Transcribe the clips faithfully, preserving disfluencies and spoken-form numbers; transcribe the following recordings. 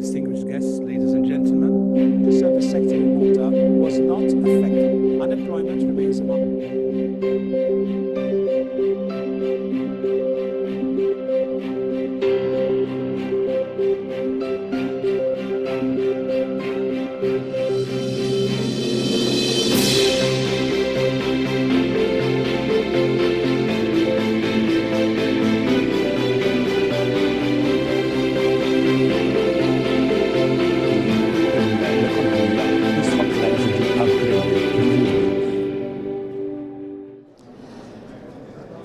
Distinguished guests, ladies and gentlemen, the service sector in Malta was not affected. Unemployment remains among L-ekonomija jistħoqqilha li tiġi upgraded.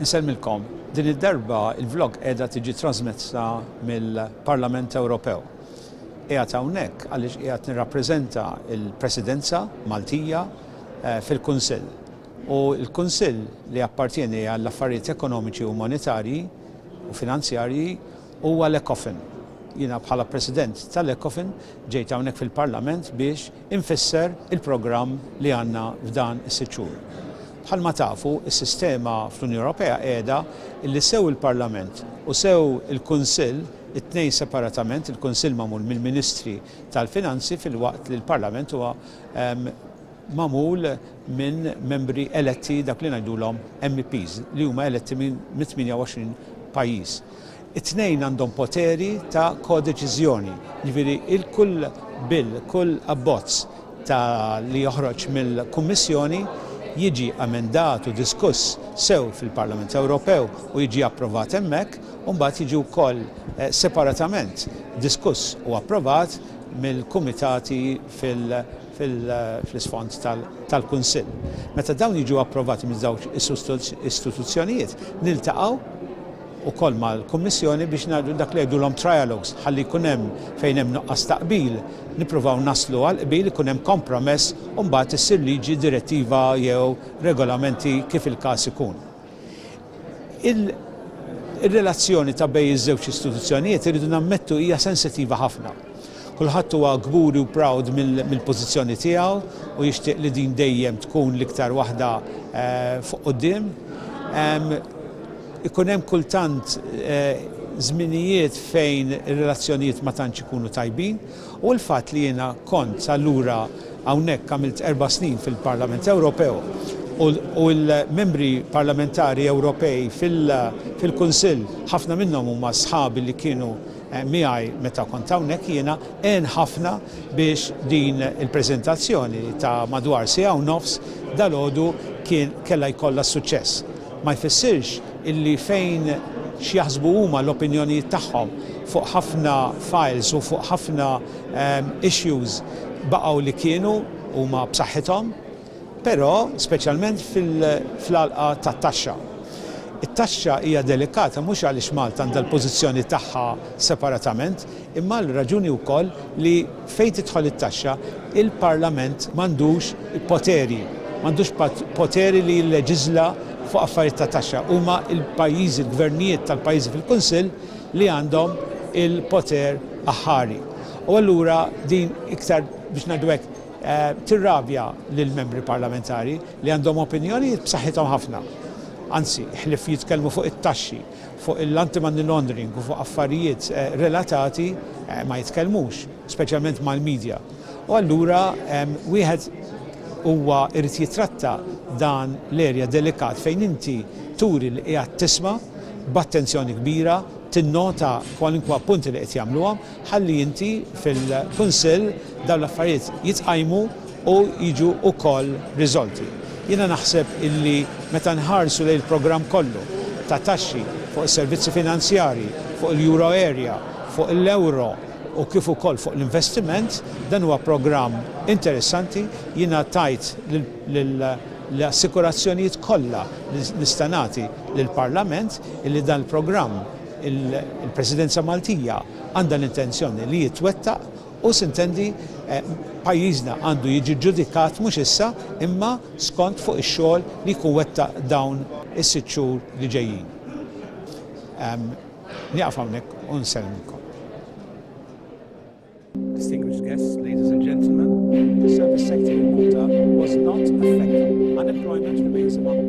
Insellmilkom, din id-darba il-vlog qiegħda tiġi trasmessa mill-Parlament Ewropew. Qiegħed hawnhekk għaliex qiegħed nirrappreżenta l-Presidenza Maltija eh, fil-Kunsill. U l-Kunsill li appartieni għall-affarijiet ekonomiċi u monetarji u finanzjarji huwa l-ECOFIN. Jiena bħala President tal-ECOFIN ġejt hawnhekk fil-Parlament biex infisser il-programm li għandna f'dan is-sitt xhur. Bħalma tafu, is-sistema fl-Unjoni Ewropea qiegħda illi sew il-Parlament u sew il-Kunsill, it-tnejn separatament, il-Kunsill magħmul mill-Ministri tal-Finanzi filwaqt li l-Parlament huwa em, magħmul minn membri eletti, dak li ngħidulhom M E Ps, li huma eletti minn tmienja u għoxrin pajjiż. It-tnejn għandhom poteri ta' kodeċiżjoni, jiġifieri il-kull bill, kull abbozz ta' li joħroġ mill-Kummissjoni jiġi amendat u diskuss sew fil-Parlament Ewropew u jiġi approvat hemmhekk, u mbagħad jiġi wkoll eh, separatament diskuss u approvat mill-kumitati fil- fil-isfond tal-Kunsill. Meta dawn jiġu approvati minn żewġ istituzzjonijiet, niltaqgħu ukoll mal-Kummissjoni biex ngħidu dak li jgħidulhom trialogues, ħalli jkun hemm fejn hemm nuqqas ta' qbil, nippruvaw naslu għal qbil, ikun hemm kompromess u mbagħad issir liġi, direttiva jew regolamenti kif il-każ ikun. Il-relazzjoni ta' bejn iż-żewġ istituzzjonijiet, irridu nammettu, hija sensittiva ħafna. Kulħadd huwa kburi u proud mill-pożizzjoni tiegħu u jixtieq li din dejjem tkun l-iktar waħda eh, fuq quddiem. Ikun hemm kultant eh, żminijiet fejn ir-relazzjonijiet ma tantx ikunu tajbin u l-fatt li jiena kont allura hawnhekk, għamilt erba' snin fil-Parlament Ewropew, u l-membri parlamentari Ewropej fil-Kunsill ħafna minnhom huma sħabi li kienu eh, miegħi meta kont hawnhekk jiena, għen ħafna biex din il-preżentazzjoni ta' madwar siegħa u nofs dalgħodu kien kella jkollha suċċess. Ma jfissirx illi fejn x'jaħsbu huma, l-opinjonijiet tagħhom fuq ħafna files u fuq ħafna um, issues baqgħu li kienu, huma b'saħħithom, però speċjalment fil-għalqa tat-taxxa. It-taxxa hija delikata mhux għaliex Malta għandha l-pożizzjoni tagħha separatament, imma l-raġuni wkoll li fejn tidħol it-taxxa, il-Parlament m'għandux poteri, m'għandux poteri li jilleġiżla fuq affarijiet ta' taxxa. Huma il-pajjiżi, il-gvernijiet tal-pajjiżi fil-Kunsill li għandhom il-poter aħħari. U allura din iktar, biex ngħidu hekk, eh, tirrabja lill-membri parlamentari li għandhom opinjoni b'saħħithom ħafna. Anzi, ħlif jitkellmu fuq it-taxxi, fuq l-anti-money laundering u fuq affarijiet eh, relatati eh, ma jitkellmux, speċjalment mal-medja. U allura wieħed huwa irid jitratta dan l-erja delikat fejn inti turi li qiegħed tisma' b'attenzjoni kbira, tinnota kwalinkwa punti li qed jagħmluhom, ħalli inti fil-Kunsill dawn l-affarijiet jitqajmu u jiġu wkoll riżolti. Jiena naħseb illi meta nħarsu lejn il-programm kollu ta' taxxi, fuq is-servizzi finanzjari, fuq il-Euro area, fuq l-euro u kif ukoll fuq l-investiment, dan huwa programm interessanti. Jiena tajt l-assikurazzjonijiet kollha li nista' nagħti lill-Parlament illi dan il-programm il-Presidenza Maltija għandha l-intenzjoni li jitwettaq u sintendi eh, pajjiżna għandu jiġi ġudikat mhux issa imma skont fuq ix-xogħol li jkun wettaq dawn is-sitt xhur li ġejjin. Nieqaf hawnhekk u nsellmilkom. Distinguished guests, ladies and gentlemen, the service sector in Malta was not affected. Unemployment remains among